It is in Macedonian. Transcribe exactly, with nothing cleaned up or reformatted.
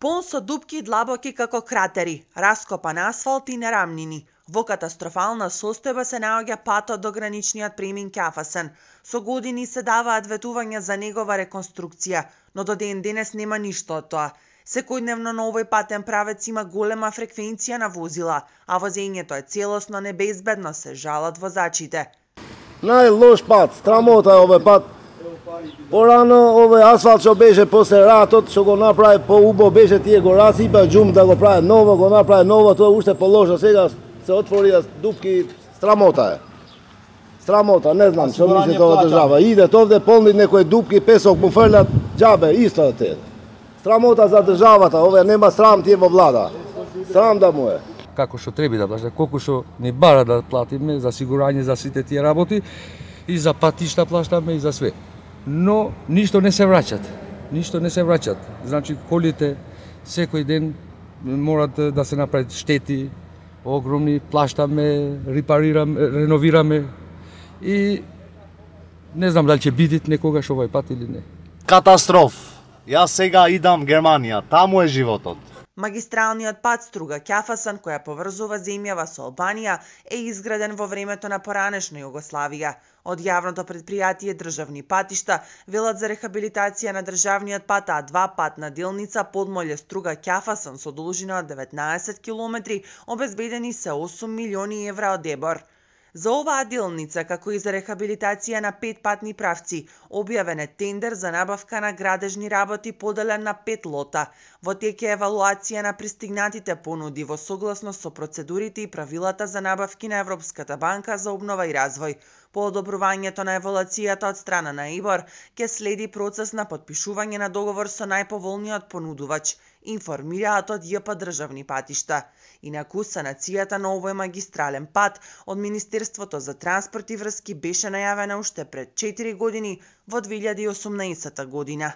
Полн со дупки и длабоки како кратери, раскопан асфалт и нерамнини. Во катастрофална состојба се наоѓа патот до граничниот премин Ќафасен. Со години се даваат ветувања за негова реконструкција, но до ден денес нема ништо од тоа. Секојдневно на овој патен правец има голема фреквенција на возила, а возењето е целосно небезбедно, се жалат возачите. Најлош пат, страмота е овој пат. Порано овој асфалт што беше после ратот, што го направи поубаво беше, тие го расипа џум да го прави ново, го направи ново, тоа уште полошо, сега се отвори дупки, страмота е. Страмота, не знам што мисли тоа држава. Идет овде полни некои дупки, песок му фрлят, џабе, исто е те. Страмота за државата, овде нема срам тие во влада. Срам да му е. Како што треба да плати, колку што ни бара да платиме за сигурање за сите тие работи, и за патишта плащаме и за све. Но ништо не се враќат. Ништо не се враќат. Значи колите секој ден морат да се направат штети огромни, плащаме, репарираме, реновираме и не знам дали ќе бидат некогаш овој пат или не. Катастроф. Јас сега идам Германија, таму е животот. Магистралниот пат Струга-Ќафасен, која поврзува земјава со Албанија, е изграден во времето на поранешна Југославија. Од јавното предпријатие Државни патишта велат за рехабилитација на државниот пат А два патна делница Подмолје Струга-Ќафасен со должина од деветнаесет километри обезбедени се осум милиони евра од ЕБОР. За оваа делница, како и за рехабилитација на пет патни правци, објавен е тендер за набавка на градежни работи поделен на пет лота. Во тек е евалуација на пристигнатите понуди во согласност со процедурите и правилата за набавки на Европската банка за обнова и развој. По одобрувањето на евалуацијата од страна на ЕБОР, ќе следи процес на потпишување на договор со најповолниот понудувач, информираат од ЈП Државни патишта. Инаку, санацијата на овој магистрален пат од Министерството за транспорт и врски беше најавена уште пред четири години, во две илјади и осумнаесета година.